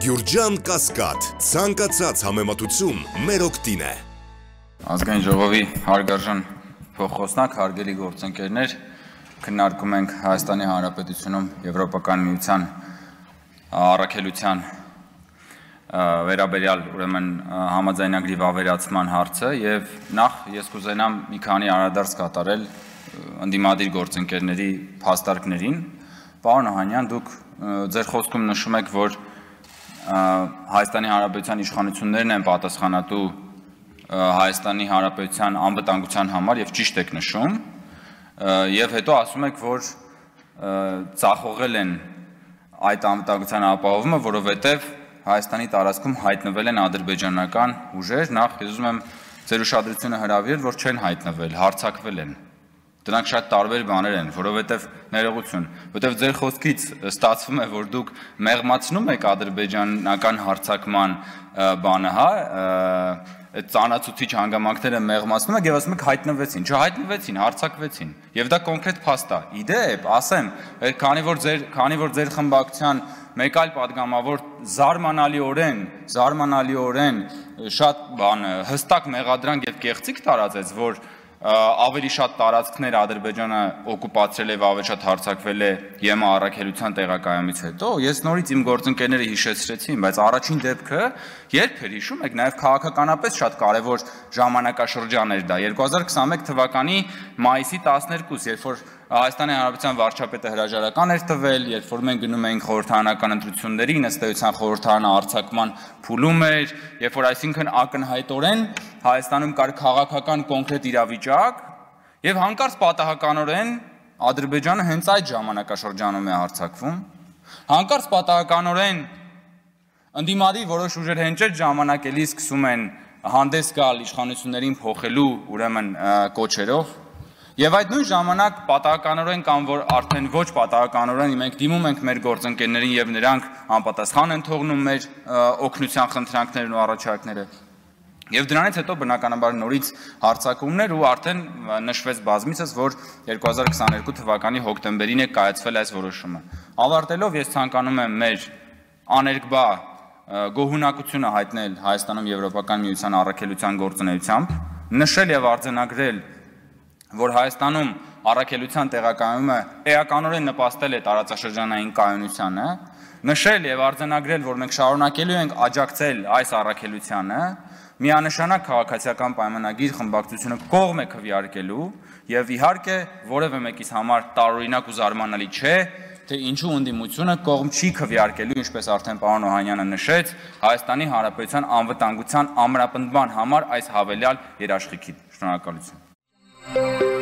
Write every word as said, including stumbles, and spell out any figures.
Գյուրջան Կասկադ, ցանկացած համեմատություն մեր օգտին է։ Ազգային ժողովի հարգարժան փոխխոսնակ, հարգելի գործընկերներ, քննարկում ենք Հայաստանի Հանրապետությունում Եվրոպական միության առաքելության վերաբերյալ ուրեմն համաձայնագրի վավերացման հարցը եւ նախ ես կուզենամ մի քանի անդրադարձ կատարել ընդդիմադիր գործընկերների փաստարկներին։ Պարոն Օհանյան, դուք ձեր խոսքում նշում եք, որ Հայաստանի Հանրապետության իշխանություններն են պատասխանատու Հայաստանի Հանրապետության անվտանգության համար եւ ճիշտ եք նշում, եւ հետո ասում եք, որ ծախողել են այդ անվտանգության ապահովումը, որովհետեւ Հայաստանի տարածքում հայտնվել են ադրբեջանական ուժեր, նախ ես ուզում եմ ձեր ուշադրությունը հրավիրել, որ չեն հայտնվել, հարձակվել են։ Դրանք շատ տարբեր բաներ են, որովհետև ներողություն, որովհետև ձեր խոսքից ստացվում է, որ դուք մեղմացնում եք ադրբեջանական հարձակման բանը, հա, այդ ծանրացուցիչ հանգամանքները մեղմացնում եք եւ ասում եք հայտնվեցին, չհայտնվեցին, հարձակվեցին։ Եվ դա կոնկրետ փաստ է։ Իդեպ, ասեմ, քանի որ ձեր, քանի որ ձեր խմբակցության մեկ այլ падգամավոր զարմանալիորեն, զարմանալիորեն շատ բան հստակ մեղադրանք եւ կեղծիք տարածեց, որ ավելի շատ տարածքներ Ադրբեջանը օկուպացրել է, ավելի շատ հարձակվել է ԵՄ առաքելության տեղակայումից հետո, ես նորից իմ գործընկերները հիշեցրեցին, բայց առաջին դեպքը երբ էր հիշում եք, նաև քաղաքականապես շատ կարևոր ժամանակաշրջան էր դա, երկու հազար քսաներկու թվականի մայիսի տասներկուսը, երբ որ Հայաստանի Հանրապետության վարչապետը հրաժարական էր տվել, երբ որ մենք գնում էինք խորհրդարանական ընտրությունների, ըստ էության խորհրդարանը արձակման փուլում էր, երբ որ այսինքն ակնհայտորեն Հայաստանում կար քաղաքական կոնկրետ իրավիճակ, եւ հանկարծ պատահականորեն Ադրբեջանը հենց այդ ժամանակաշրջանում է հարձակվում, հանկարծ պատահականորեն ընդդիմադիր որոշ ուժեր հենց այդ ժամանակ էլի սկսում են հանդես գալ իշխանություններին փոխելու ուրեմն կոչերով։ Եվ այդ նույն ժամանակ պատահականորեն կամ որ արդեն ոչ պատահականորեն մենք դիմում ենք մեր գործընկերներին եւ նրանք անպատասխան են թողնում մեր օգնության խնդրանքներն ու առաջարկները։ Եվ դրանից հետո բնականաբար նորից հարձակումներ ու արդեն նշվեց բազմիցս, որ երկու հազար քսաներկու թվականի հոկտեմբերին է կայացվել այս որոշումը։ Ավարտելով ես ցանկանում եմ մեր աներկբա գոհունակությունը հայտնել Հայաստանում Եվրոպական միության առաքելության գործունեությամբ, նշել եւ արձանագրել, որ Հայաստանում առաքելության տեղակայումը էականորեն նպաստել է տարածաշրջանային կայունությանը, նշել եւ արձանագրել, որ մենք շարունակելու ենք աջակցել այս առաքելությանը, միանշանակ քաղաքացիական պայմանագիր խմբակցությունը կողմ է քվեարկելու եւ իհարկե որևէ մեկից համար տարօրինակ ու զարմանալի չէ, թե ինչու ընդդիմությունը կողմ չի քվեարկելու, ինչպես արդեն պարոն Օհանյանը նշեց, Հայաստանի Հանրապետության անվտանգության ամրապնդման համար այս հավելյալ երաշխիքին։ Շնորհակալություն։